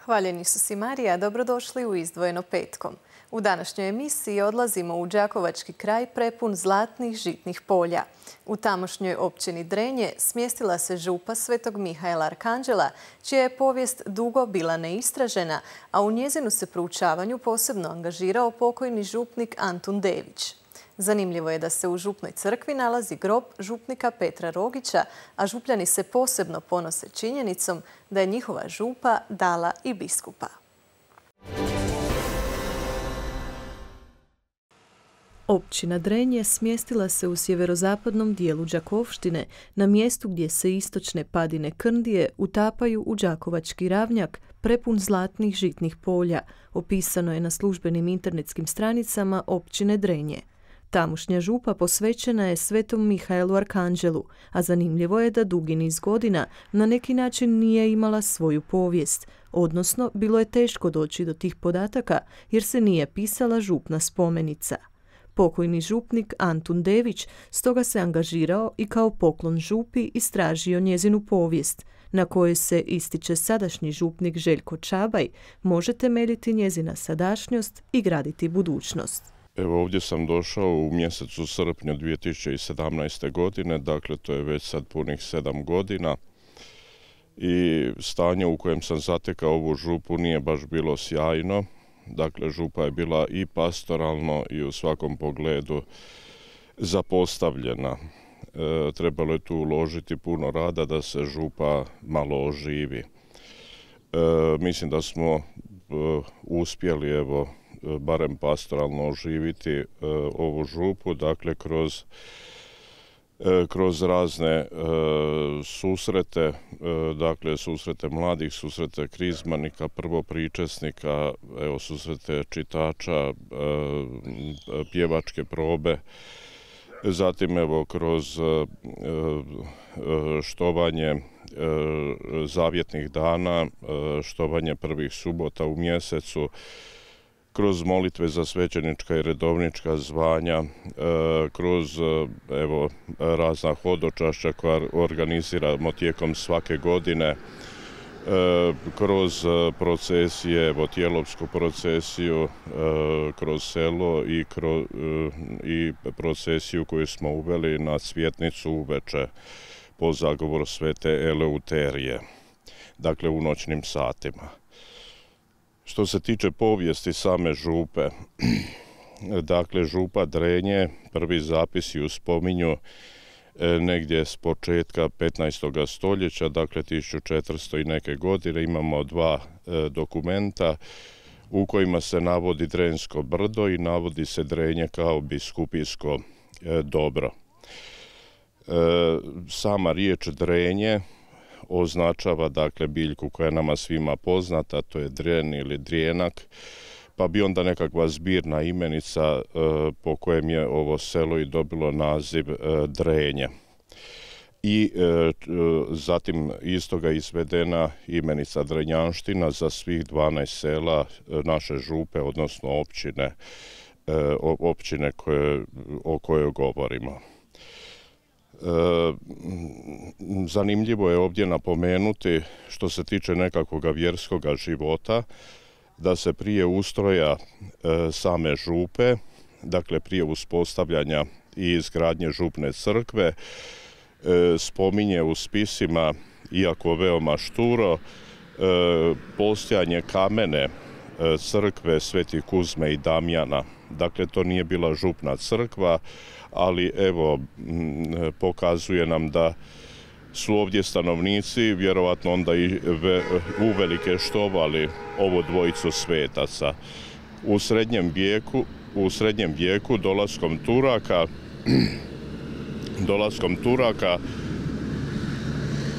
Hvaljeni Isus i Marija, dobrodošli u Izdvojeno petkom. U današnjoj emisiji odlazimo u Đakovački kraj prepun zlatnih žitnih polja. U tamošnjoj općini Drenje smjestila se župa Svetog Mihaela Arkanđela, čija je povijest dugo bila neistražena, a u njezinu se proučavanju posebno angažirao pokojni župnik Antun Dević. Zanimljivo je da se u župnoj crkvi nalazi grob župnika Petra Rogića, a župljani se posebno ponose činjenicom da je njihova župa dala i biskupa. Općina Drenje smjestila se u sjeverozapadnom dijelu Đakovštine, na mjestu gdje se istočne padine Krndije utapaju u Đakovački ravnjak prepun zlatnih žitnih polja, opisano je na službenim internetskim stranicama općine Drenje. Tamošnja župa posvećena je Svetom Mihaelu Arkanđelu, a zanimljivo je da dugi niz godina na neki način nije imala svoju povijest, odnosno bilo je teško doći do tih podataka jer se nije pisala župna spomenica. Pokojni župnik Antun Dević stoga se angažirao i kao poklon župi istražio njezinu povijest, na kojoj se, ističe sadašnji župnik Željko Čabaj, može temeljiti njezina sadašnjost i graditi budućnost. Evo, ovdje sam došao u mjesecu srpnju 2017. godine, dakle to je već sad punih 7 godina i stanje u kojem sam zatekao ovu župu nije baš bilo sjajno. Dakle, župa je bila i pastoralno i u svakom pogledu zapostavljena. Trebalo je tu uložiti puno rada da se župa malo oživi. Mislim da smo uspjeli, evo, barem pastoralno oživiti ovu župu, dakle kroz razne susrete, dakle susrete mladih, susrete krizmanika, prvopričesnika, evo susrete čitača, pjevačke probe, zatim evo kroz štovanje zavjetnih dana, štovanje prvih subota u mjesecu, kroz molitve za svećenička i redovnička zvanja, kroz evo razna hodočašća koja organiziramo tijekom svake godine, kroz procesije, evo tijelovsku procesiju kroz selo i procesiju koju smo uveli na Cvjetnicu uveče po zagovoru Svete Eleuterije, dakle u noćnim satima. Što se tiče povijesti same župe, dakle župa Drenje, prvi zapisi ju spominju negdje s početka 15. stoljeća, dakle 1400 i neke godine. Imamo dva dokumenta u kojima se navodi Drensko brdo i navodi se Drenje kao biskupijsko dobro. Sama riječ Drenje označava dakle biljku koja je nama svima poznata, to je dren ili drijenak, pa bi onda nekakva zbirna imenica po kojem je ovo selo i dobilo naziv Drenje. I zatim iz toga izvedena imenica Drenjanština za svih 12 sela naše župe, odnosno općine o kojoj govorimo. Zanimljivo je ovdje napomenuti, što se tiče nekakvog vjerskog života, da se prije ustroja same župe, dakle prije uspostavljanja i izgradnje župne crkve, spominje u spisima, iako veoma šturo, postojanje kamene crkve Svetih Kuzme i Damjana. Dakle, to nije bila župna crkva, ali evo, pokazuje nam da su ovdje stanovnici vjerovatno onda i uvelike štovali ovu dvojicu svetaca. U srednjem vijeku dolaskom Turaka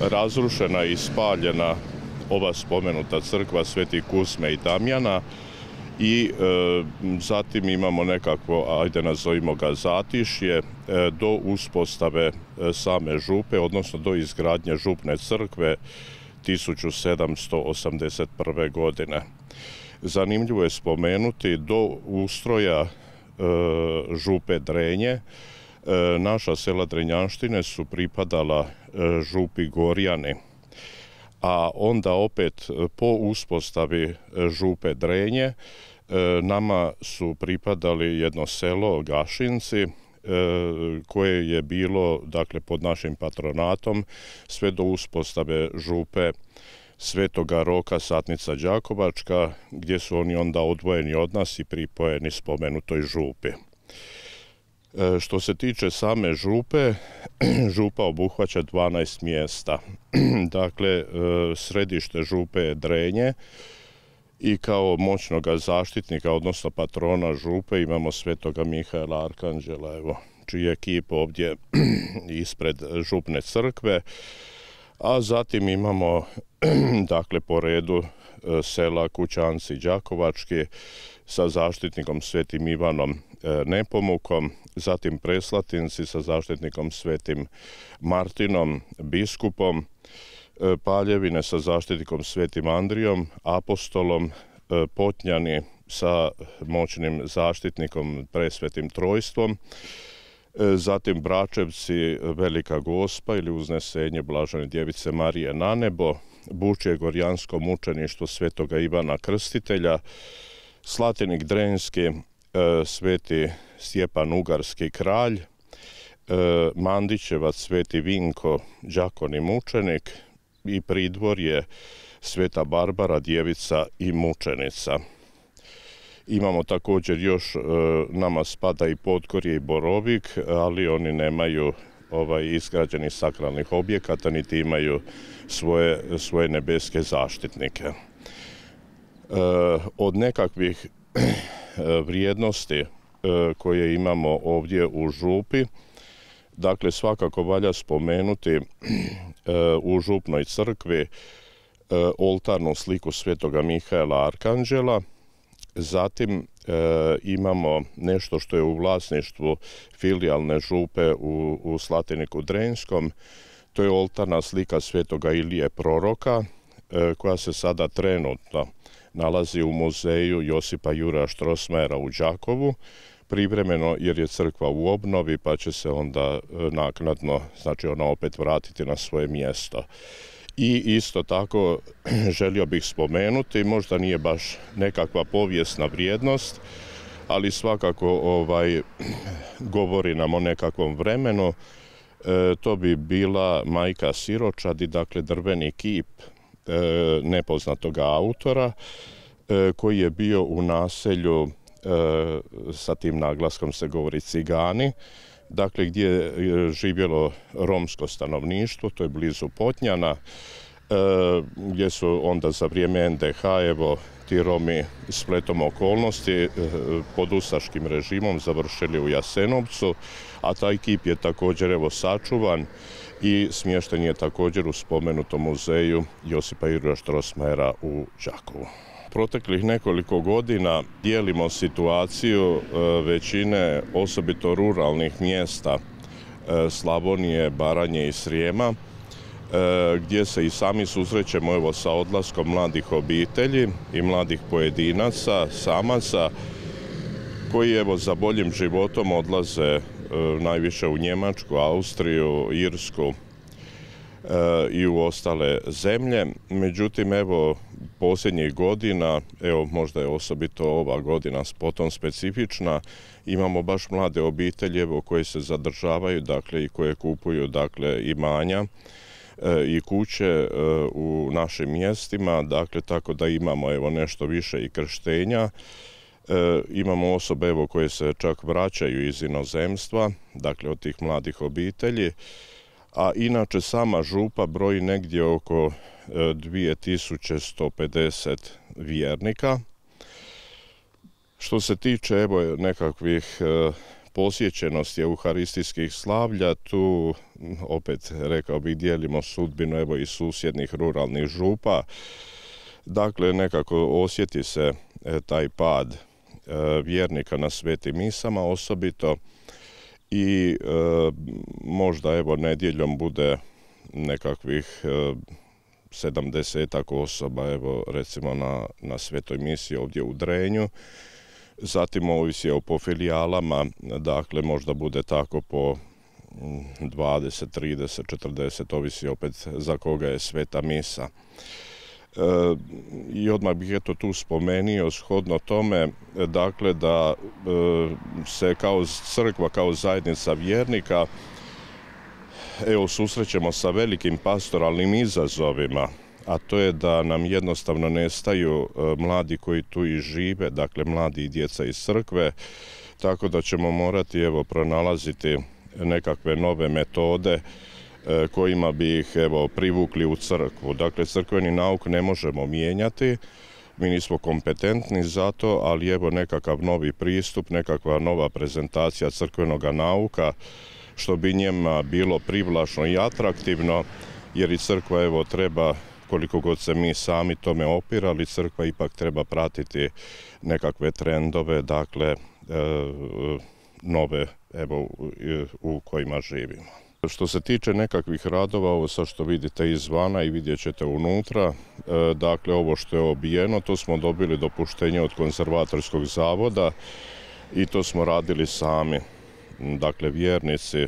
razrušena i spaljena ova spomenuta crkva Svetih Kuzme i Damjana i zatim imamo nekakvo, ajde nazovimo ga zatišje, do uspostave same župe, odnosno do izgradnje župne crkve 1781. godine. Zanimljivo je spomenuti, do ustroja župe Drenje naša sela Drenjanštine su pripadala župi Gorjani, a onda opet po uspostavi župe Drenje nama su pripadali jedno selo Gašinci koje je bilo dakle pod našim patronatom sve do uspostave župe Svetoga Roka Satnica Đakovačka, gdje su oni onda odvojeni od nas i pripojeni spomenutoj župi. Što se tiče same župe, župa obuhvaća 12 mjesta. Dakle, središte župe je Drenje i kao moćnoga zaštitnika, odnosno patrona župe, imamo Svetoga Mihaela Arkanđela, evo, čiji je kip ovdje ispred župne crkve, a zatim imamo dakle po redu sela Kućanci Đakovački sa zaštitnikom Svetim Ivanom Nepomukom, zatim Preslatinci sa zaštitnikom Svetim Martinom, biskupom, Paljevine sa zaštitnikom Svetim Andrijom, apostolom, Potnjani sa moćnim zaštitnikom Presvetim Trojstvom, zatim Bračevci Velika Gospa ili Uznesenje Blažene Djevice Marije na nebo, Bučje Gorjansko mučeništvo Svetoga Ivana Krstitelja, Slatinik Drenjski Sveti Stjepan Ugarski kralj, Mandićevac Sveti Vinko đakon i mučenik i Pridvorje Sveta Barbara Djevica i mučenica. Imamo također još, nama spada i Podgorje i Borovik, ali oni nemaju izgrađenih sakralnih objekata, niti imaju svoje nebeske zaštitnike. Od nekakvih vrijednosti koje imamo ovdje u župi, dakle svakako valja spomenuti u župnoj crkvi oltarnu sliku Svetoga Mihaela Arkanđela. Zatim imamo nešto što je u vlasništvu filijalne župe u Slatiniku Drenjskom. To je oltarna slika Svetoga Ilije Proroka koja se sada trenutno nalazi u muzeju Josipa Juraja Strossmayera u Đakovu, privremeno jer je crkva u obnovi pa će se onda naknadno, znači ona opet vratiti na svoje mjesto. I isto tako želio bih spomenuti, možda nije baš nekakva povijesna vrijednost, ali svakako govori nam o nekakvom vremenu. To bi bila Majka Siročadi, dakle drveni kip nepoznatoga autora koji je bio u naselju, sa tim naglaskom se govori Cigani, dakle gdje je živjelo romsko stanovništvo, to je blizu Potnjana, gdje su onda za vrijeme NDH ti Romi spletom okolnosti pod ustaškim režimom završili u Jasenovcu, a taj kip je također sačuvan i smješten je također u spomenutom muzeju Josipa Juraja Strossmayera u Đakovu. Proteklih nekoliko godina dijelimo situaciju većine osobito ruralnih mjesta Slavonije, Baranje i Srijema, gdje se i sami susrećemo sa odlaskom mladih obitelji i mladih pojedinaca, samaca, koji za boljim životom odlaze najviše u Njemačku, Austriju, Irsku i u ostale zemlje. Međutim, posljednjih godina, možda je osobito ova godina potom specifična, imamo baš mlade obitelji koje se zadržavaju, dakle, i koje kupuju, dakle, imanja i kuće u našim mjestima, dakle, tako da imamo nešto više i krštenja. Imamo osobe koje se čak vraćaju iz inozemstva, dakle od tih mladih obitelji, a inače sama župa broji negdje oko 2150 vjernika. Što se tiče nekakvih posjećenosti euharistijskih slavlja, tu opet rekao bih dijelimo sudbinu i susjednih ruralnih župa. Dakle, nekako osjeti se taj pad vjernika na svetim misama osobito i možda nedjeljom bude nekakvih 70-ak osoba recimo na svetoj misiji ovdje u Drenju. Zatim ovisi po filijalama, dakle možda bude tako po 20, 30, 40, ovisi opet za koga je sveta misa. I odmah bih tu spomenio shodno tome, dakle, da se kao crkva, kao zajednica vjernika susrećemo sa velikim pastoralnim izazovima, a to je da nam jednostavno nestaju mladi koji tu i žive, dakle mladi i djeca iz crkve, tako da ćemo morati pronalaziti nekakve nove metode kojima bi ih privukli u crkvu. Dakle, crkveni nauk ne možemo mijenjati, mi nismo kompetentni za to, ali nekakav novi pristup, nekakva nova prezentacija crkvenog nauka, što bi njima bilo privlačno i atraktivno, jer i crkva treba, koliko god se mi sami tome opirali, crkva ipak treba pratiti nekakve trendove, dakle, nove u kojima živimo. Što se tiče nekakvih radova, ovo sad što vidite izvana i vidjet ćete unutra, dakle ovo što je obijeno, to smo dobili dopuštenje od konzervatorskog zavoda i to smo radili sami. Dakle, vjernici,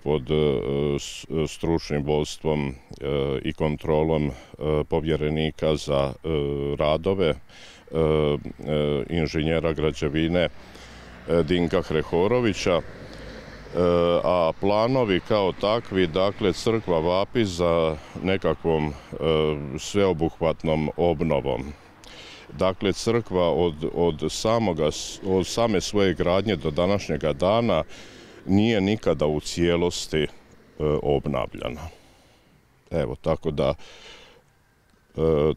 pod stručnim vodstvom i kontrolom povjerenika za radove, inženjera građevine Dinka Hrehorovića, a planovi kao takvi, dakle, crkva vapi za nekakvom sveobuhvatnom obnovom. Dakle, crkva od same svoje gradnje do današnjega dana nije nikada u cijelosti obnavljana. Tako da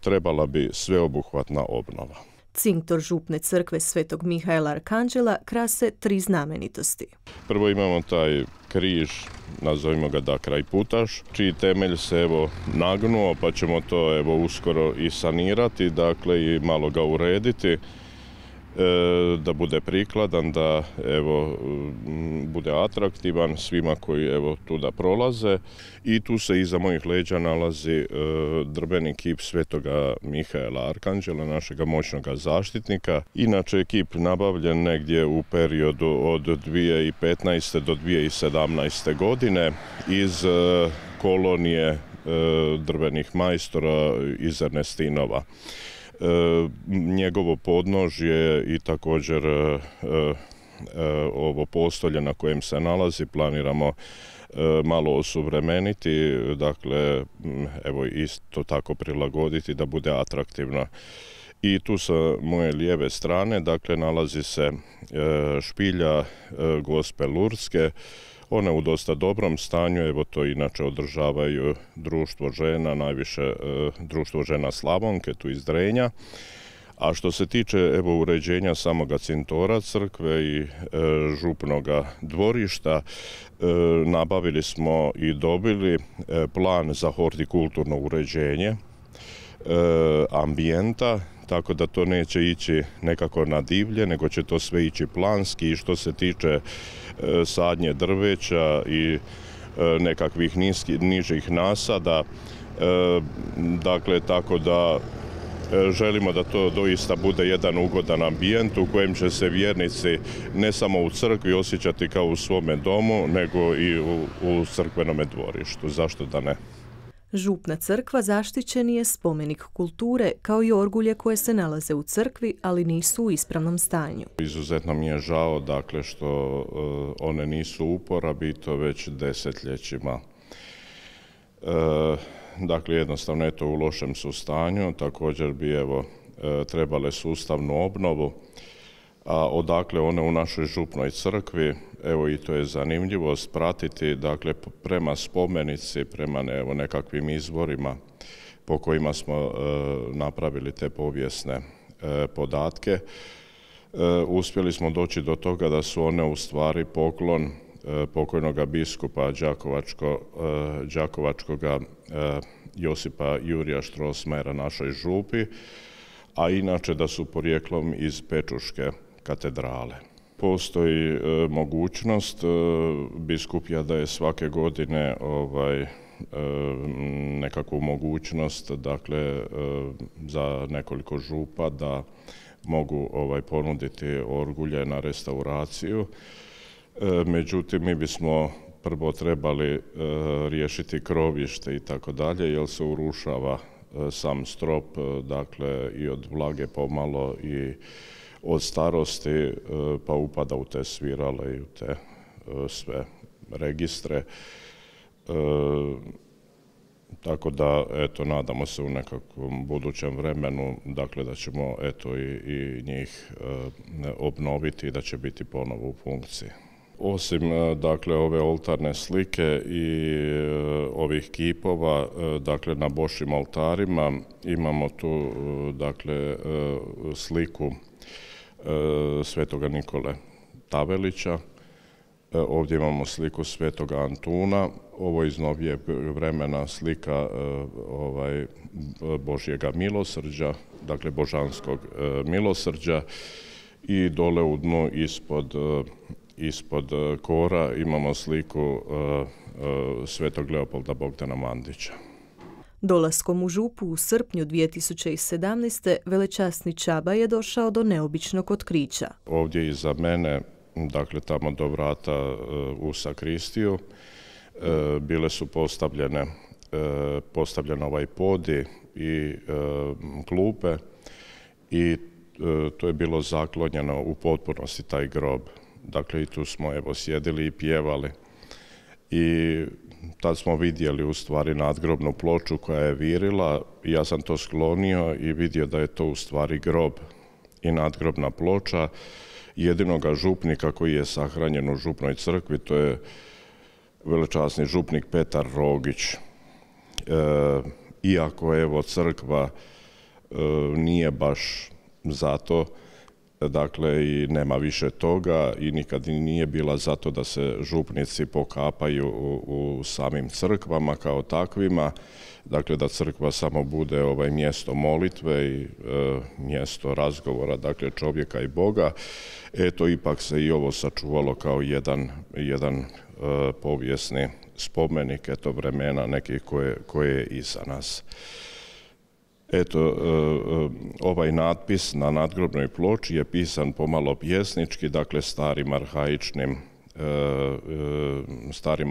trebala bi sveobuhvatna obnova. Cinktor župne crkve Svetog Mihaela Arkanđela krase 3 znamenitosti. Prvo imamo taj križ, nazovimo ga krajputaš, čiji temelj se nagnuo, pa ćemo to uskoro i sanirati, dakle i malo ga urediti, da bude prikladan, da bude atraktivan svima koji tuda prolaze. I tu se iza mojih leđa nalazi drveni kip Svetoga Mihaela Arkanđela, našega moćnoga zaštitnika. Inače je kip nabavljen negdje u periodu od 2015. do 2017. godine iz kolonije drvenih majstora iz Ernestinova. Njegovo podnožje i također ovo postolje na kojem se nalazi planiramo malo osuvremeniti, dakle isto tako prilagoditi da bude atraktivno. I tu sa moje lijeve strane, dakle, nalazi se špilja Gospe Lurdske. Ona je u dosta dobrom stanju, to inače održavaju društvo žena, najviše društvo žena Slavonke, tu iz Drenja. A što se tiče uređenja samoga cintora crkve i župnoga dvorišta, nabavili smo i dobili plan za hortikulturno uređenje ambijenta, tako da to neće ići nekako na divlje, nego će to sve ići planski. I što se tiče sadnje drveća i nekakvih nižih nasada, dakle, tako da želimo da to doista bude jedan ugodan ambijent u kojem će se vjernici ne samo u crkvi osjećati kao u svome domu, nego i u crkvenome dvorištu. Zašto da ne? Župna crkva zaštićen je spomenik kulture, kao i orgulje koje se nalaze u crkvi, ali nisu u ispravnom stanju. Izuzetno mi je žao, dakle, što one nisu u uporabi, to već desetljećima. Dakle, jednostavno je to u lošem su stanju, također bi trebale sustavnu obnovu. A odakle one u našoj župnoj crkvi, i to je zanimljivost pratiti, dakle, prema spomenici, prema nekakvim izvorima po kojima smo napravili te povijesne podatke. Uspjeli smo doći do toga da su one u stvari poklon pokojnoga biskupa đakovačkoga Josipa Jurija Štrosmajera našoj župi, a inače da su porijeklom iz Pečuške katedrale. Postoji mogućnost, biskup daje svake godine nekakvu mogućnost, dakle, za nekoliko župa da mogu ponuditi orgulje na restauraciju. Međutim, mi bismo prvo trebali riješiti krovište i tako dalje, jer se urušava sam strop, dakle i od vlage pomalo i od starosti, pa upada u te svirale i u te sve registre. Tako da, eto, nadamo se u nekakvom budućem vremenu, dakle, da ćemo, eto, i njih obnoviti i da će biti ponovo u funkciji. Osim, dakle, ove oltarne slike i ovih kipova, dakle, na Božjim oltarima imamo tu, dakle, sliku svetoga Nikole Tavelića. Ovdje imamo sliku svetoga Antuna, ovo iz novijeg vremena slika Božjega milosrđa, dakle božanskog milosrđa, i dole u dnu ispod kora imamo sliku svetog Leopolda Bogdana Mandića. Dolaskom u župu u srpnju 2017. velečasni Čaba je došao do neobičnog otkrića. Ovdje iza mene, dakle tamo do vrata u sakristiju, bile su postavljen ovaj podi i klupe i to je bilo zaklonjeno u potpunosti taj grob. Dakle, i tu smo evo sjedili i pjevali. I tad smo vidjeli u stvari nadgrobnu ploču koja je virila. Ja sam to sklonio i vidio da je to u stvari grob i nadgrobna ploča jedinoga župnika koji je sahranjen u župnoj crkvi, to je velečasni župnik Petar Rogić. Iako evo crkva nije baš zato, dakle i nema više toga i nikad nije bila zato da se župnici pokapaju u samim crkvama kao takvima, dakle da crkva samo bude mjesto molitve i mjesto razgovora, dakle čovjeka i Boga. Eto, ipak se i ovo sačuvalo kao jedan povijesni spomenik, eto vremena nekih koje je iza nas. Eto, ovaj natpis na nadgrobnoj ploči je pisan pomalo pjesnički, dakle starim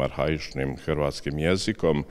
arhaičnim hrvatskim jezikom.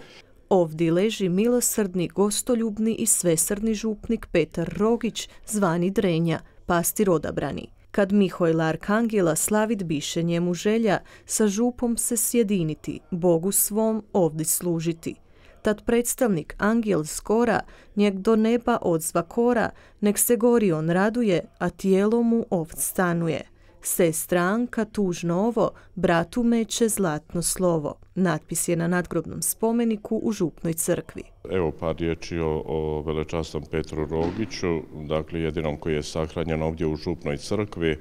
Ovdje leži milosrdni, gostoljubni i svesrdni župnik Petar Rogić, zvani Drenja, pastir odabrani. Kad Mihojla Arkangela slavit biše njemu želja, sa župom se sjediniti, Bogu svom ovdje služiti. Tad predstavnik angel skora, njeg do neba odzva kora, nek se gori on raduje, a tijelo mu ovd stanuje. Sestra Anka tužno ovo, bratu meće zlatno slovo. Natpis je na nadgrobnom spomeniku u župnoj crkvi. Evo par riječi o velečasnom Petru Rogiću, dakle jedinom koji je sahranjen ovdje u župnoj crkvi.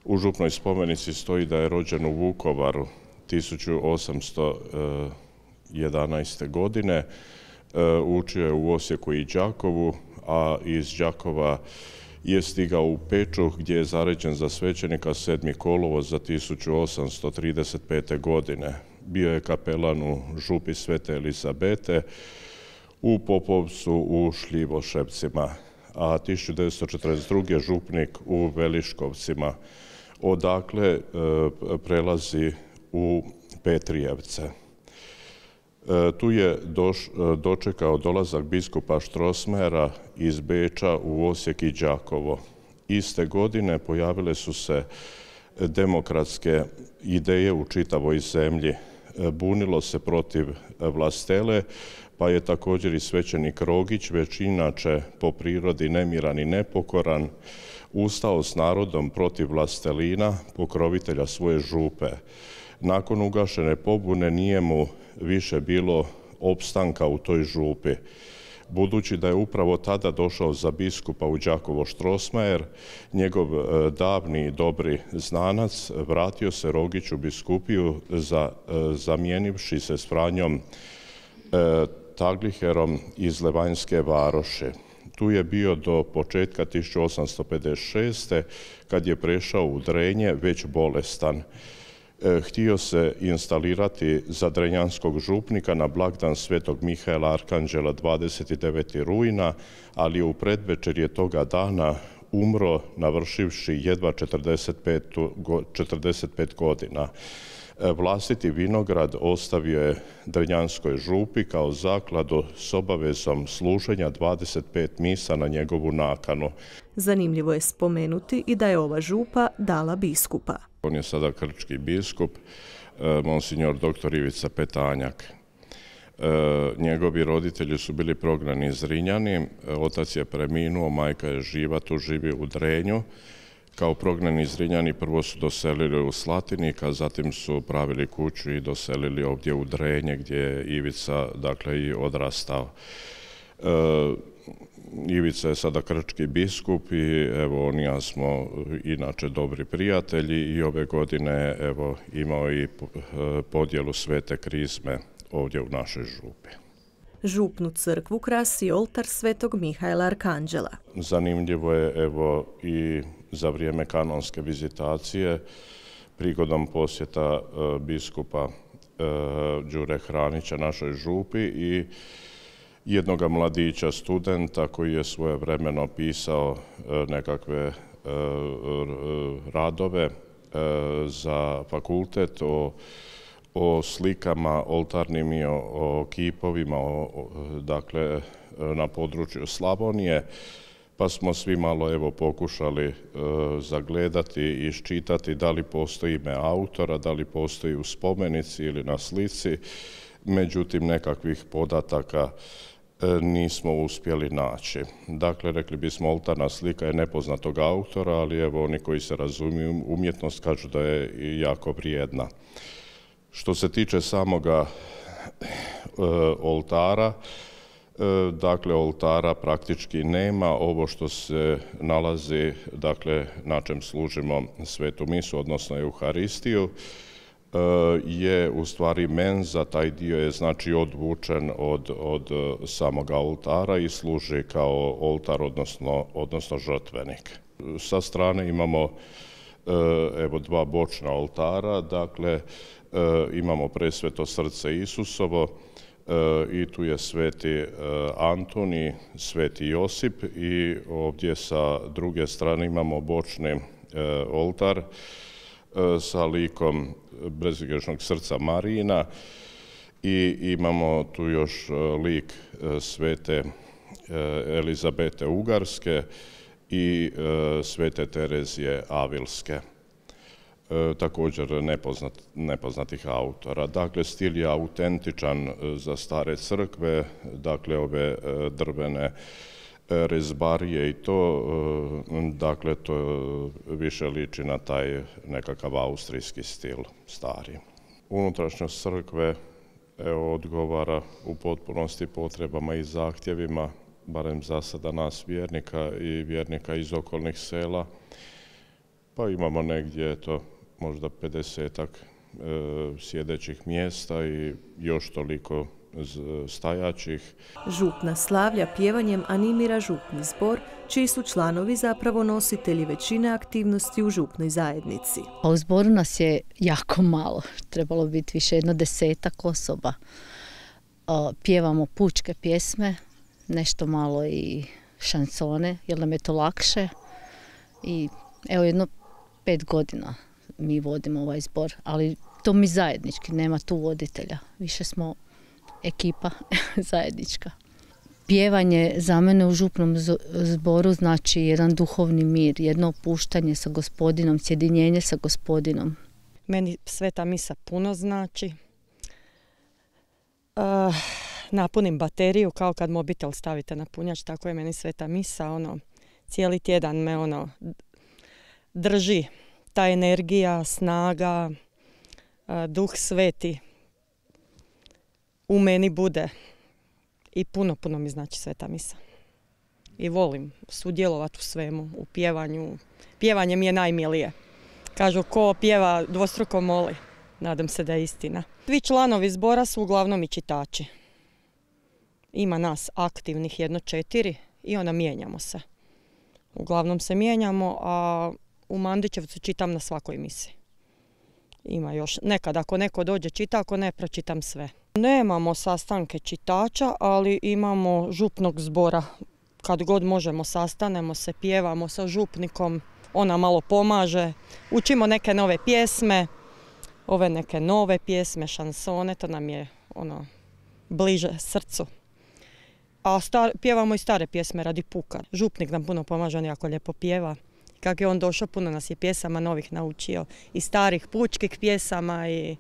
U župnoj spomenici stoji da je rođen u Vukovaru 1811. godine. Učio je u Osijeku i Đakovu, a iz Đakova je stigao u Pečuh gdje je zaređen za svećenika 7. kolovoz za 1835. godine. Bio je kapelan u župi Svete Elizabete, u Popovcu, u Šljivoševcima, a 1942. župnik u Veliškovcima. Odakle prelazi u Petrijevce. Tu je dočekao dolazak biskupa Strossmayera iz Beča u Osijek i Đakovo. Iste godine pojavile su se demokratske ideje u čitavoj zemlji. Bunilo se protiv vlastele, pa je također i svećenik Rogić, već inače po prirodi nemiran i nepokoran, ustao s narodom protiv vlastelina, pokrovitelja svoje župe. Nakon ugašene pobune nije mu više bilo opstanka u toj župi. Budući da je upravo tada došao za biskupa u Đakovo Strossmayer, njegov davni i dobri znanac vratio se Rogić u biskupiju zamijenivši se s Franjom Tagliherom iz Levanjske Varoši. Tu je bio do početka 1856. kad je prešao u Drenje već bolestan. Htio se instalirati za drenjanskog župnika na blagdan svetog Mihaela Arkanđela 29. rujna, ali je u predvečerje toga dana umro navršivši jedva 45 godina. Vlastiti vinograd ostavio je Drenjanskoj župi kao zakladu s obavezom služenja 25 misa na njegovu nakanu. Zanimljivo je spomenuti i da je ova župa dala biskupa. On je sada krčki biskup, monsignor dr. Ivica Petanjak. Njegovi roditelji su bili prognani iz Zrinjani, otac je preminuo, majka je živa, tu živi u Drenju. Kao prognani Zrinjani prvo su doselili u Slatinik, a zatim su pravili kuću i doselili ovdje u Drenje gdje je Ivica i odrastao. Ivica je sada krčki biskup i evo on i ja smo inače dobri prijatelji i ove godine imao i podjelu svete krizme ovdje u našoj župi. Župnu crkvu krasi oltar svetog Mihajla Arkanđela. Zanimljivo je i za vrijeme kanonske vizitacije prigodom posjeta biskupa Đure Hranića našoj župi i jednoga mladića studenta koji je svojevremeno pisao nekakve radove za fakultet o slikama oltarnim i o kipovima na području Slavonije, pa smo svi malo pokušali zagledati i iščitati da li postoji ime autora, da li postoji u spomenici ili na slici, međutim nekakvih podataka nismo uspjeli naći. Dakle, rekli bismo oltarna slika je nepoznatog autora, ali oni koji se razumiju umjetnost kažu da je jako vrijedna. Što se tiče samoga oltara, oltara praktički nema. Ovo što se nalazi, na čem služimo svetu misu, odnosno Euharistiju, je u stvari menza, taj dio je odvučen od samoga oltara i služi kao oltar, odnosno žrtvenik. Sa strane imamo dva bočna oltara, imamo presveto srce Isusovo i tu je sveti Antoni, sveti Josip i ovdje sa druge strane imamo bočni oltar sa likom bezgrešnog srca Marijina i imamo tu još lik svete Elizabete Ugarske i svete Terezije Avilske. Također nepoznatih autora. Stil je autentičan za stare crkve, ove drvene rezbarije i to više liči na taj nekakav austrijski stil stari. Unutrašnjost crkve odgovara u potpunosti potrebama i zahtjevima, barem za sada nas vjernika i vjernika iz okolnih sela, pa imamo negdje možda 50-ak sjedećih mjesta i još toliko stajaćih. Župna slavlja pjevanjem animira župni zbor, čiji su članovi zapravo nositelji većine aktivnosti u župnoj zajednici. U zboru nas je jako malo, trebalo biti više 10 osoba. Pjevamo pučke pjesme, nešto malo i šansone, jer nam je to lakše. I jedno 5 godina mi vodimo ovaj zbor, ali to mi zajednički, nema tu voditelja. Više smo ekipa zajednička. Pjevanje za mene u župnom zboru znači jedan duhovni mir, jedno opuštanje sa Gospodinom, sjedinjenje sa Gospodinom. Meni sveta misa puno znači. Napunim bateriju kao kad mobitel stavite na punjač, tako je meni sveta misa. Cijeli tjedan me drži. Ta energija, snaga, duh sveti u meni bude i puno mi znači sveta misa. I volim sudjelovati u svemu, u pjevanju. Pjevanje mi je najmilije. Kažu ko pjeva dvostruko moli. Nadam se da je istina. Svi članovi zbora su uglavnom i čitači. Ima nas aktivnih 4 i onda mijenjamo se. Uglavnom se mijenjamo, a u Mandićevcu čitam na svakoj misi. Ima još nekad, ako neko dođe čita, ako ne, pročitam sve. Nemamo sastanke čitača, ali imamo župnog zbora. Kad god možemo, sastanemo se, pjevamo sa župnikom, ona malo pomaže, učimo neke nove pjesme, ove neke nove pjesme, šansone, to nam je bliže srcu. A pjevamo i stare pjesme radi puka. Župnik nam puno pomaže, on jako lijepo pjeva. Kako je on došao, puno nas je pjesama novih naučio. I starih pučkih pjesama i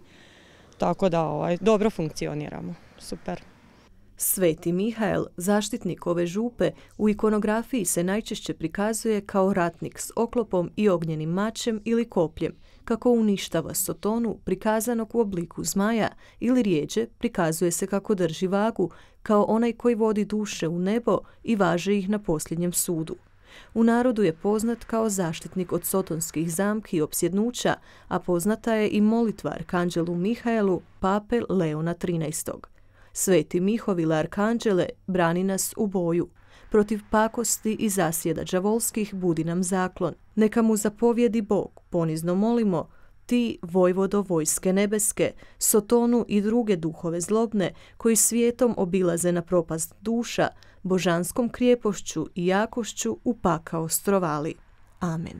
tako da dobro funkcioniramo. Super. Sveti Mihael, zaštitnik ove župe, u ikonografiji se najčešće prikazuje kao ratnik s oklopom i ognjenim mačem ili kopljem, kako uništava Sotonu prikazanog u obliku zmaja, ili rjeđe prikazuje se kako drži vagu, kao onaj koji vodi duše u nebo i važe ih na posljednjem sudu. U narodu je poznat kao zaštitnik od sotonskih zamki i opsjednuća, a poznata je i molitva arkanđelu Mihaelu, pape Leona XIII. Sveti Mihovile arkanđele, brani nas u boju. Protiv pakosti i zasjeda đavolskih budi nam zaklon. Neka mu zapovjedi Bog, ponizno molimo, ti, vojvodo vojske nebeske, Sotonu i druge duhove zlobne, koji svijetom obilaze na propast duša, božanskom krijepošću i jakošću u pakao strovali. Amen.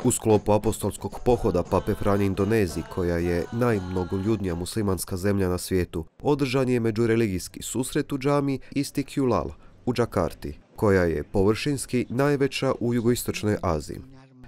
U sklopu apostolskog pohoda Pape Franje Indoneziji, koja je najmnogoljudnija muslimanska zemlja na svijetu, održan je međureligijski susret u džami Istiqlal u Džakarti, koja je površinski najveća u jugoistočnoj Aziji.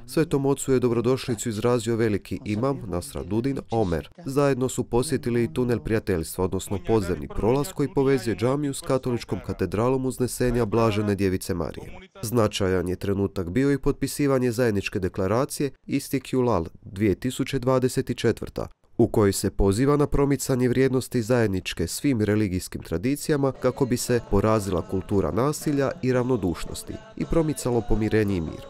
Svetom ocu je dobrodošlicu izrazio veliki imam Nasraduddin Omer. Zajedno su posjetili i tunel prijateljstva, odnosno podzemni prolaz koji povezuje džamiju s katoličkom katedralom Uznesenja Blažene Djevice Marije. Značajan je trenutak bio i potpisivanje zajedničke deklaracije Istiqlal 2024. u kojoj se poziva na promicanje vrijednosti zajedničke svim religijskim tradicijama kako bi se porazila kultura nasilja i ravnodušnosti i promicalo pomirenje i mir.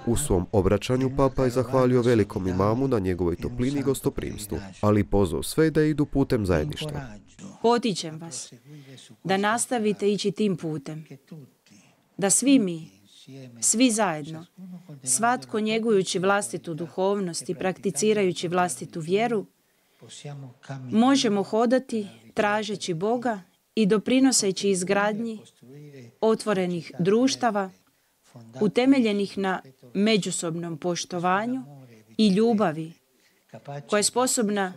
U svom obraćanju Papa je zahvalio velikom imamu na njegovoj toplini i gostoprimstvu, ali pozvao sve da idu putem zajedništva. Potičem vas da nastavite ići tim putem, da svi mi, svi zajedno, svatko njegujući vlastitu duhovnost i prakticirajući vlastitu vjeru, možemo hodati tražeći Boga i doprinoseći izgradnji otvorenih društava utemeljenih na međusobnom poštovanju i ljubavi, koja je sposobna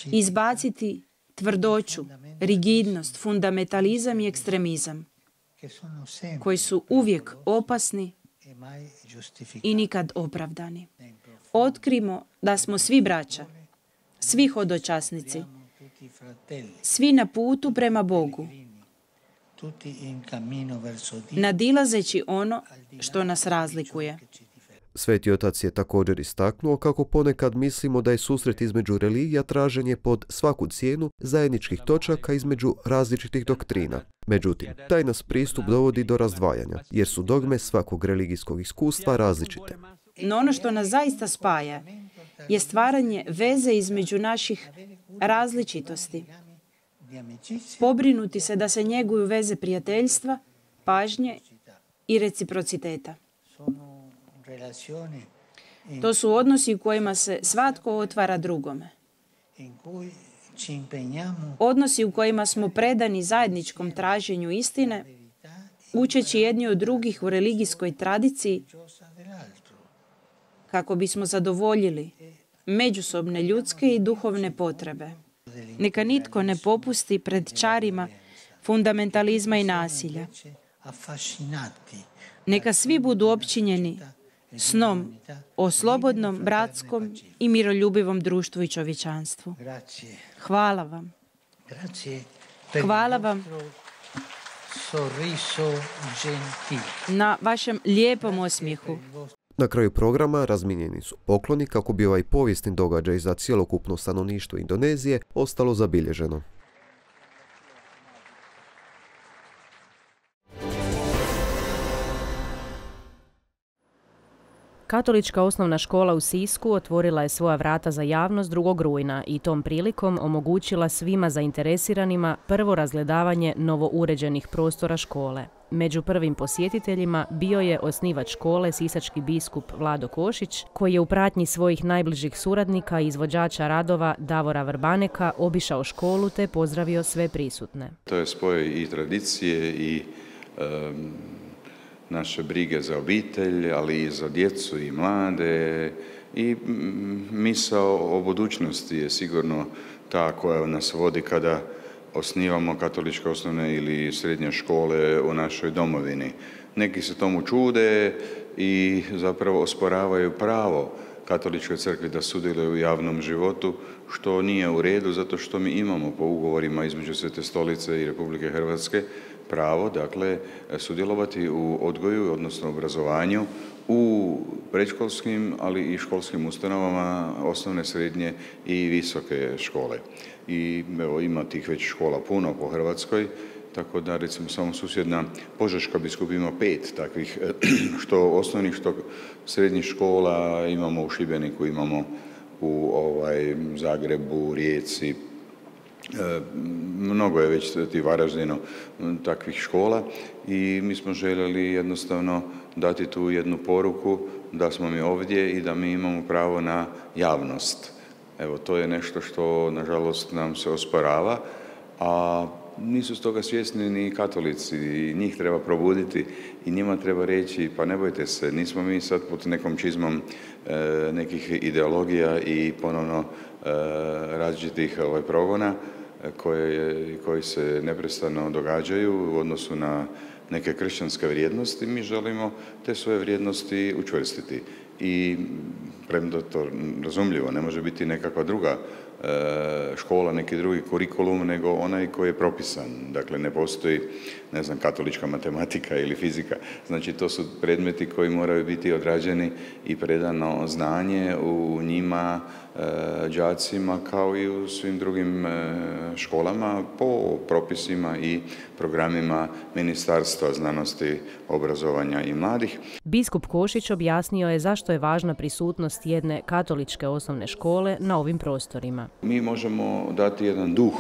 izbaciti tvrdoću, rigidnost, fundamentalizam i ekstremizam, koji su uvijek opasni i nikad opravdani. Otkrimo da smo svi braća, svi hodočasnici, svi na putu prema Bogu, nadilazeći ono što nas razlikuje. Sveti otac je također istaknuo kako ponekad mislimo da je susret između religija traženje pod svaku cijenu zajedničkih točaka između različitih doktrina. Međutim, taj nas pristup dovodi do razdvajanja, jer su dogme svakog religijskog iskustva različite. No ono što nas zaista spaja je stvaranje veze između naših različitosti. Pobrinuti se da se njeguju veze prijateljstva, pažnje i reciprociteta. To su odnosi u kojima se svatko otvara drugome. Odnosi u kojima smo predani zajedničkom traženju istine, učeći jedni od drugih u religijskoj tradiciji, kako bismo zadovoljili međusobne ljudske i duhovne potrebe. Neka nitko ne popusti pred čarima fundamentalizma i nasilja. Neka svi budu opčinjeni snom o slobodnom, bratskom i miroljubivom društvu i čovječanstvu. Hvala vam. Hvala vam na vašem lijepom osmijehu. Na kraju programa razmijenjeni su pokloni kako bi ovaj povijesni događaj za cjelokupno stanovništvo Indonezije ostalo zabilježeno. Katolička osnovna škola u Sisku otvorila je svoja vrata za javnost 2. rujna i tom prilikom omogućila svima zainteresiranima prvo razgledavanje novouređenih prostora škole. Među prvim posjetiteljima bio je osnivač škole, sisački biskup Vlado Košić, koji je u pratnji svojih najbližih suradnika i izvođača radova Davora Vrbaneka obišao školu te pozdravio sve prisutne. To je spoj i tradicije i naše brige za obitelj, ali i za djecu i mlade. I misao o budućnosti je sigurno ta koja nas vodi kada osnivamo katoličke osnovne ili srednje škole u našoj domovini. Neki se tomu čude i zapravo osporavaju pravo Katoličkoj crkvi da sudjeluje u javnom životu, što nije u redu, zato što mi imamo po ugovorima između Svete Stolice i Republike Hrvatske pravo, dakle, sudjelovati u odgoju, odnosno obrazovanju, u predškolskim, ali i školskim ustanovama, osnovne, srednje i visoke škole. I evo, ima tih već škola puno po Hrvatskoj, tako da recimo samo susjedna Požeška biskup ima 5 takvih, što osnovnih, što srednjih škola, imamo u Šibeniku, imamo u Zagrebu, Rijeci, mnogo je već ti Varaždinu takvih škola i mi smo željeli jednostavno dati tu jednu poruku da smo mi ovdje i da mi imamo pravo na javnost. Evo, to je nešto što, nažalost, nam se osporava, a nisu stoga svjesni ni katolici i njih treba probuditi i njima treba reći pa ne bojte se, nismo mi sad pod nekom čizmom nekih ideologija i ponovno različitih progona koji se neprestano događaju u odnosu na neke kršćanske vrijednosti. Mi želimo te svoje vrijednosti učvrstiti i premda to razumljivo, ne može biti nekakva druga škola, neki drugi kurikulum, nego onaj koji je propisan. Dakle, ne postoji, ne znam, katolička matematika ili fizika. Znači, to su predmeti koji moraju biti odrađeni i predano znanje u njima đacima kao i u svim drugim školama po propisima i programima Ministarstva znanosti, obrazovanja i mladih. Biskup Košić objasnio je zašto je važna prisutnost jedne katoličke osnovne škole na ovim prostorima. Mi možemo dati jedan duh,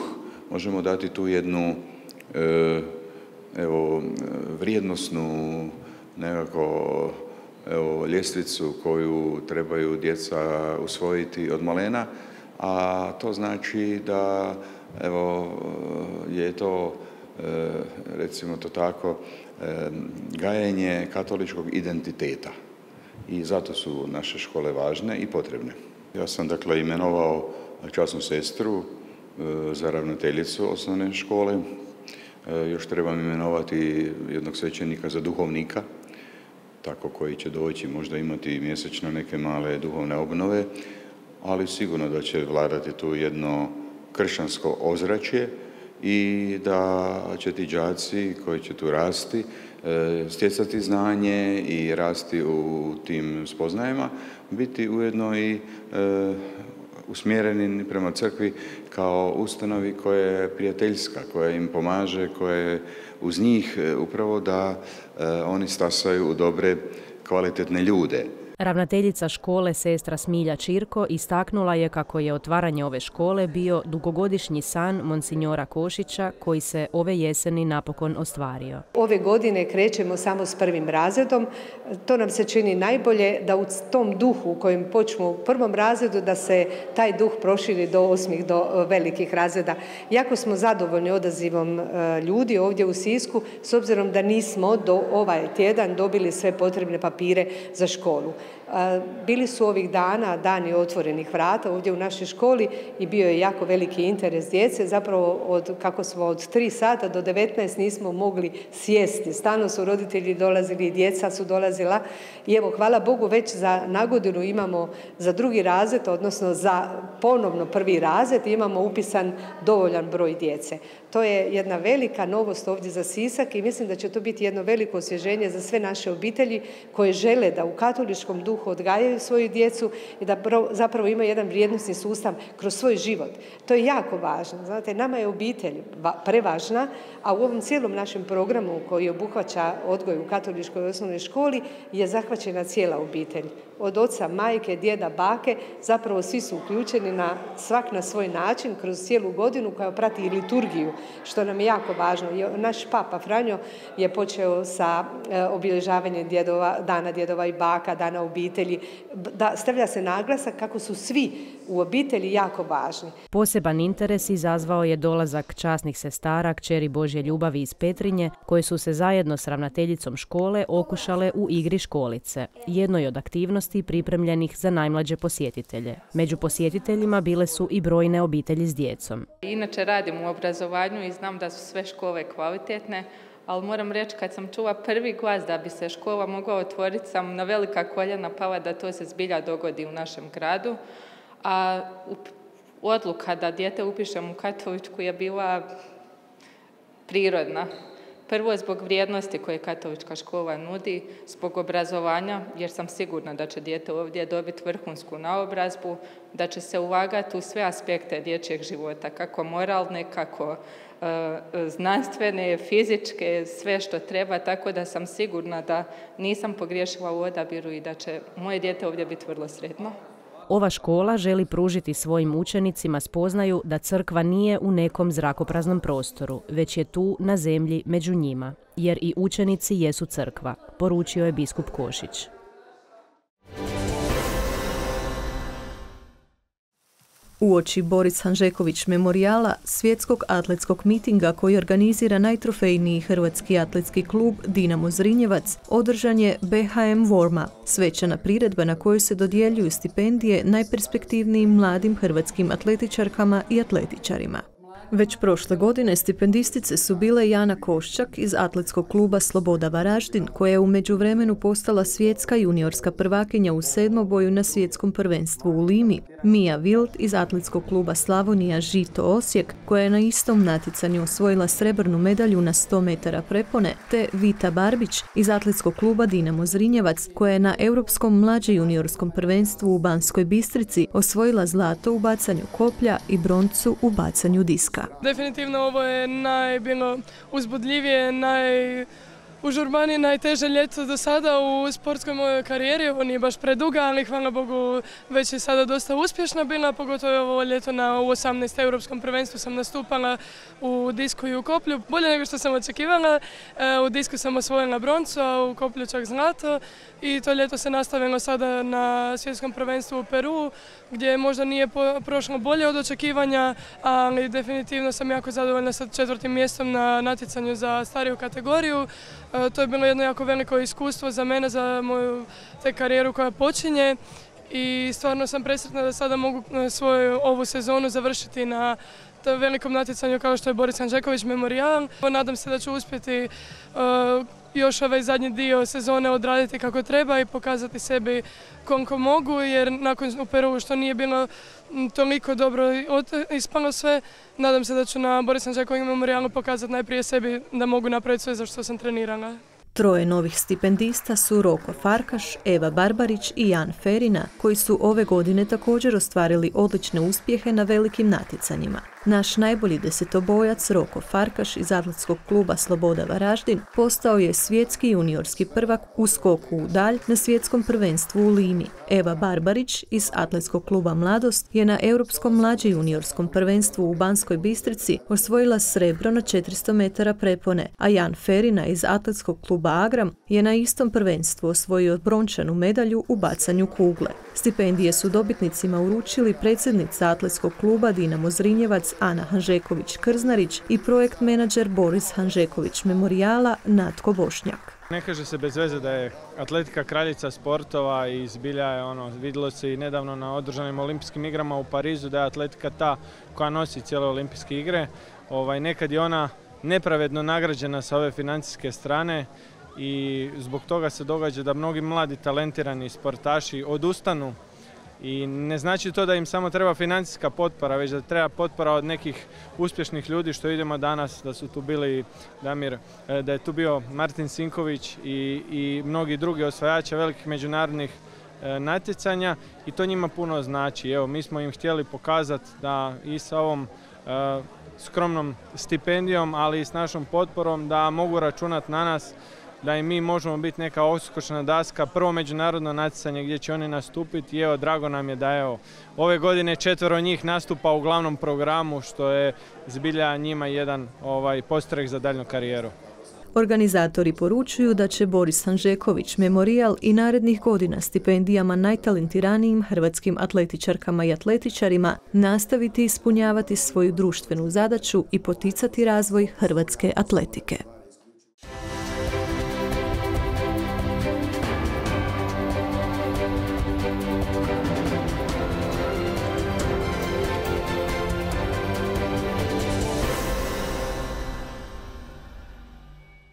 možemo dati tu jednu vrijednosnu nekako ljestvicu koju trebaju djeca usvojiti od malena, a to znači da je to, recimo to tako, gajenje katoličkog identiteta. I zato su naše škole važne i potrebne. Ja sam, dakle, imenovao časnu sestru za ravnateljicu osnovne škole. Još trebam imenovati jednog svećenika za duhovnika, tako koji će doći, možda imati mjesečno neke male duhovne obnove, ali sigurno da će vladati tu jedno kršćansko ozračje i da će ti đaci koji će tu rasti, stjecati znanje i rasti u tim spoznajama, biti ujedno i usmjereni prema crkvi kao ustanovi koja je prijateljska, koja im pomaže, koja je uz njih upravo da oni stasaju u dobre, kvalitetne ljude. Ravnateljica škole sestra Smilja Čirko istaknula je kako je otvaranje ove škole bio dugogodišnji san monsinjora Košića koji se ove jeseni napokon ostvario. Ove godine krećemo samo s 1. razredom. To nam se čini najbolje da u tom duhu u kojem počnemo u 1. razredu da se taj duh proširi do 8. do velikih razreda. Jako smo zadovoljni odazivom ljudi ovdje u Sisku s obzirom da nismo do ovaj tjedan dobili sve potrebne papire za školu. Bili su ovih dana dani otvorenih vrata ovdje u našoj školi i bio je jako veliki interes djece. Zapravo kako smo od 3 sata do 19 nismo mogli sjesti. Stalno su roditelji dolazili i djeca su dolazila. I evo, hvala Bogu, već za nagodinu imamo za 2. razred, odnosno za ponovno 1. razred, imamo upisan dovoljan broj djece. To je jedna velika novost ovdje za Sisak i mislim da će to biti jedno veliko osvježenje za sve naše obitelji koje žele da u katoličkom duhu odgajaju svoju djecu i da zapravo imaju jedan vrijednosni sustav kroz svoj život. To je jako važno. Znate, nama je obitelj prevažna, a u ovom cijelom našem programu koji obuhvaća odgoj u katoličkoj osnovnoj školi je zahvaćena cijela obitelj. Od oca, majke, djeda, bake, zapravo svi su uključeni svak na svoj način kroz cijelu godinu koja prati i liturgiju, što nam je jako važno. Naš papa Franjo je počeo sa obilježavanjem dana djedova i baka, dana obitelji. Stavlja se naglasak kako su svi u obitelji jako važni. Poseban interes izazvao je dolazak časnih sestara kćeri Božje ljubavi iz Petrinje, koje su se zajedno s ravnateljicom škole okušale u igri školice, jednoj od aktivnosti pripremljenih za najmlađe posjetitelje. Među posjetiteljima bile su i brojne obitelji s djecom. Inače radim u obrazovanju i znam da su sve škole kvalitetne, ali moram reći kad sam čula prvi glas da bi se škola mogla otvoriti, sam na velika koljena pala da to se zbilja dogodi u našem gradu. A odluka da dijete upišem u katoličku je bila prirodna. Prvo zbog vrijednosti koje katolička škola nudi, zbog obrazovanja, jer sam sigurna da će dijete ovdje dobiti vrhunsku naobrazbu, da će se ulagati u sve aspekte dječjeg života, kako moralne, kako znanstvene, fizičke, sve što treba, tako da sam sigurna da nisam pogriješila u odabiru i da će moje dijete ovdje biti vrlo sretno. Ova škola želi pružiti svojim učenicima spoznaju da crkva nije u nekom zrakopraznom prostoru, već je tu na zemlji među njima, jer i učenici jesu crkva, poručio je biskup Košić. Uoči Boris Hanžeković memorijala, svjetskog atletskog mitinga koji organizira najtrofejniji hrvatski atletski klub Dinamo Zrinjevac, održan je BHM Vorma, svečana priredba na kojoj se dodjeljuju stipendije najperspektivnijim mladim hrvatskim atletičarkama i atletičarima. Već prošle godine stipendistice su bile Jana Koščak iz atletskog kluba Sloboda Varaždin, koja je u međuvremenu postala svjetska juniorska prvakinja u sedmoboju na svjetskom prvenstvu u Limi, Mija Vild iz atletskog kluba Slavonija Žito Osijek, koja je na istom natjecanju osvojila srebrnu medalju na 100 metara prepone, te Vita Barbić iz atletskog kluba Dinamo Zrinjevac, koja je na europskom mlađe juniorskom prvenstvu u Banskoj Bistrici osvojila zlato u bacanju koplja i broncu u bacanju diska. Definitivno ovo je bilo uzbudljivije, najužurbanije, najteže ljeto do sada u sportskoj mojoj karijeri. Ovo nije baš preduga, ali hvala Bogu već je sada dosta uspješna bila, pogotovo ovo ljeto u 18. europskom prvenstvu sam nastupala u disku i u koplju. Bolje nego što sam očekivala, u disku sam osvojila broncu, a u koplju čak zlato. I to ljeto se nastavilo sada na svjetskom prvenstvu u Peru, gdje možda nije prošlo bolje od očekivanja, ali definitivno sam jako zadovoljna sa 4. mjestom na natjecanju za stariju kategoriju. To je bilo jedno jako veliko iskustvo za mene, za moju karijeru koja počinje i stvarno sam presretna da sada mogu svoju ovu sezonu završiti na velikom natjecanju kao što je Boris Hanžeković memorijal. Nadam se da ću uspjeti još ovaj zadnji dio sezone odraditi kako treba i pokazati sebi koliko mogu, jer nakon u Peru što nije bilo toliko dobro ispalo sve, nadam se da ću na Boris Hanžeković memorijalu pokazati najprije sebi da mogu napraviti sve za što sam trenirala. Troje novih stipendista su Roko Farkaš, Eva Barbarić i Jan Ferina, koji su ove godine također ostvarili odlične uspjehe na velikim natjecanjima. Naš najbolji desetobojac Roko Farkaš iz atletskog kluba Sloboda Varaždin postao je svjetski juniorski prvak u skoku u dalj na svjetskom prvenstvu u Limi. Eva Barbarić iz atletskog kluba Mladost je na europskom mlađe juniorskom prvenstvu u Banskoj Bistrici osvojila srebro na 400 metara prepone, a Jan Ferina iz atletskog kluba Agram je na istom prvenstvu osvojio brončanu medalju u bacanju kugle. Stipendije su dobitnicima uručili predsjednica atletskog kluba Dinamo Zrinjevac Ana Hanžeković-Krznarić i projekt menadžer Boris Hanžeković memorijala Natko Bošnjak. Ne kaže se bez veze da je atletika kraljica sportova i zbilja je vidjelo se i nedavno na održanim olimpijskim igrama u Parizu da je atletika ta koja nosi cijele olimpijske igre. Nekad je ona nepravedno nagrađena sa ove financijske strane i zbog toga se događa da mnogi mladi talentirani sportaši odustanu. I ne znači to da im samo treba financijska potpora, već da treba potpora od nekih uspješnih ljudi što vidimo danas, da su tu bili Damir, da je tu bio Martin Sinković i mnogi drugi osvajači velikih međunarodnih natjecanja i to njima puno znači. Evo, mi smo im htjeli pokazati da i sa ovom skromnom stipendijom, ali i s našom potporom da mogu računati na nas, da i mi možemo biti neka odskočna daska, prvo međunarodno natjecanje gdje će oni nastupiti i evo, drago nam je da ove godine 4 njih nastupa u glavnom programu, što je zbilja njima jedan postreh za daljnju karijeru. Organizatori poručuju da će Boris Hanžeković memorijal i narednih godina stipendijama najtalentiranijim hrvatskim atletičarkama i atletičarima nastaviti ispunjavati svoju društvenu zadaću i poticati razvoj hrvatske atletike.